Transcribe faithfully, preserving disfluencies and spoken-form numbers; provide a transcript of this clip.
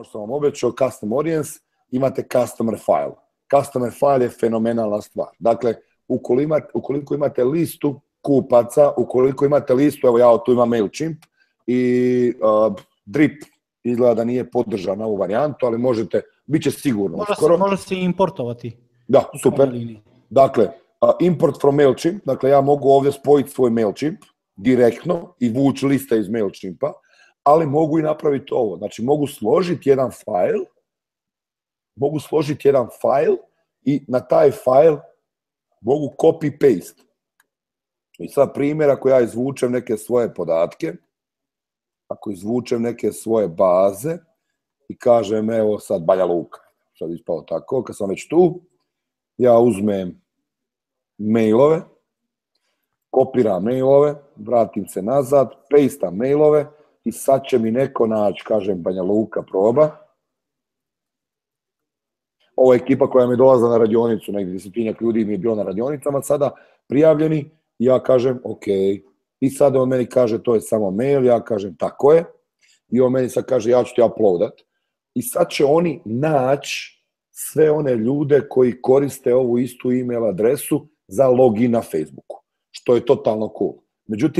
ono što sam vam obećao, custom audience, imate customer file. Customer file je fenomenalna stvar. Dakle, ukoliko imate, ukoliko imate listu kupaca, ukoliko imate listu, evo ja tu imam MailChimp i uh, Drip izgleda da nije podržan ovu varijantu, ali možete, bit će sigurno može uskoro. Se, može se importovati. Da, super. Dakle, uh, import from MailChimp, dakle ja mogu ovdje spojiti svoj MailChimp direktno i vući liste iz MailChimpa, ali mogu i napraviti ovo. Znači, mogu složiti jedan file, mogu složiti jedan file i na taj file mogu copy-paste. I sad primjer, ako ja izvučem neke svoje podatke, ako izvučem neke svoje baze i kažem, evo sad Banja Luka, sad ispao tako, kad sam već tu, ja uzmem mailove, kopiram mailove, vratim se nazad, pastam mailove i sad će mi neko naći, kažem Banja Luka proba. Ovo je ekipa koja mi je dolazila na radionicu, negdje desetinjak ljudi mi je bilo na radionicama sada prijavljeni, i ja kažem ok. I sad on meni kaže to je samo mail, ja kažem tako je, i on meni sad kaže ja ću ti uploadat. I sad će oni naći sve one ljude koji koriste ovu istu email adresu za login na Facebooku, što je totalno cool. Međutim,